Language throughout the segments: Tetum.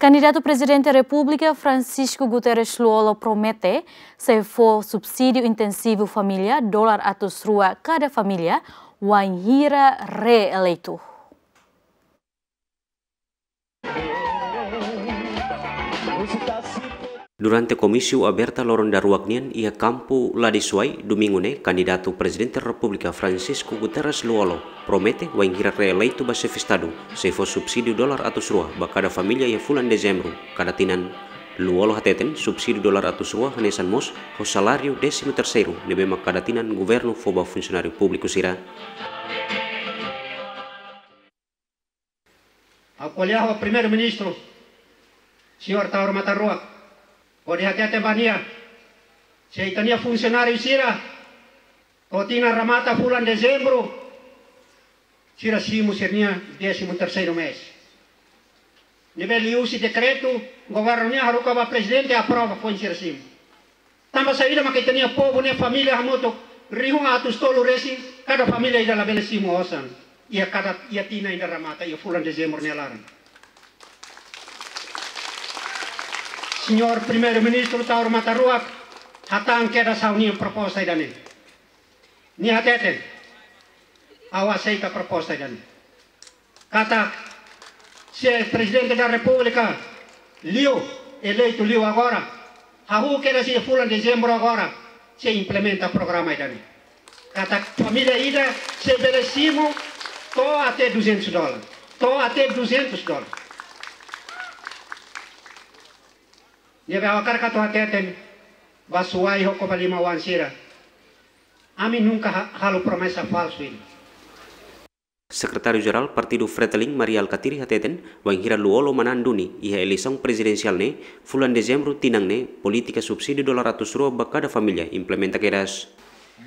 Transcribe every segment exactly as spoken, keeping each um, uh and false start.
Kandidatu Prezidente Repúblika Francisco Guterres Lú-Olo promete sei fó subsídiu intensivu família dolar atus rua kada família wainhira reeleitu. Durante komísiu aberta loron daruak nian iha kampu Ladisuai, Domingu ne'e, kandidatu Prezidente Repúblika Francisco Guterres Lú-Olo promete wainhira reeleitu ba Xefe Estadu, sei fó subsídiu dolar atus rua ba kada família iha fulan Dezembru kada tinan. Lú-Olo hateten, subsídiu dolar atus rua hanesan mós ho saláriu désimu terseiru ne'ebé mak kada tinan governu fó ba funsionáriu públiku sira. Ha'u ko'alia ho Primeiru-Ministru, Señór Taur Matan Ruak, hodi hatete ba nia, se ita-nia funsionáriu sira, to'o tinan remata fulan Dezembru, sira simu sira-nia désimu terseiru mês. Ne'ebé liuhusi dekretu governu nian haruka ba Prezidente aprova foin sira simu. Tanba saida mak ita-nia povu ne'e família hamutuk rihun atus tolu resin, kada família ida labele simu osan iha kada, iha tinan ida remata, iha fulan Dezembru nia laran. Señór Primeiru-Ministru Taur Matan Ruak hatán kedas ha'u-nia proposta ida-ne'e. Nia hateten, ha'u aseita proposta ida-ne'e. Katak, se Prezidente da Repúblika liu, eleitu liu agora, hahú kedas iha fulan Dezembru agora, sei implementa programa ida-ne'e. Katak família ida sei bele simu to'o até duzentus dólar. To'o até duzentus dólar. Ne'ebé ha'u hakarak atu hateten ba Suai ho Covalima oan sira. Ami nunka ha-, halo promesa falsu ida. Sekretáriu Jerál Partidu Fretilin, Mari Alkatiri hateten, wainhira Lú-Olo manán duni iha eleisaun prezidensiál ne'e, fulan Dezembru tinan ne'e, polítika subsídiu dolar atus rua ba kada família implementa kedas.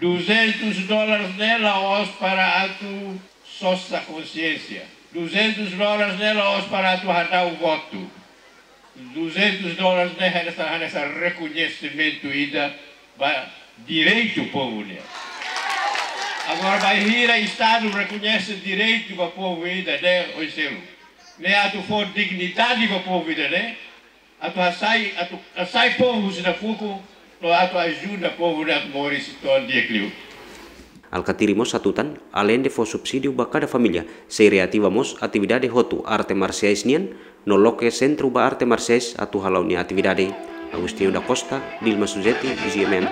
Duzentus dólares ne'e la'ós para atu sosa konsiénsia. Duzentus dólares ne'e la'ós para atu hadau votu. Duzentus dólares ne'e hanesan, hanesan rekoñesimentu ida ba direitu povu nian. Agora, bainhira Estadu rekoñese direitu ba povu ida-ne'e, oiselu? Ne'e atu fó dignidade ba povu ida-ne'e, atu hasai, atu hasai povu husi nafuku, no atu ajuda povu ne'e atu moris to'o di'ak liu. Alkatiri mós hatutan, aleinde fó subsídiu ba kada família, sei reativa mós atividade hotu arte marsiais nian, no loke sentru ba arte marsiais atu hala'o nia atividade. Agostinho da Costa, Dilma Suzeti, G M M.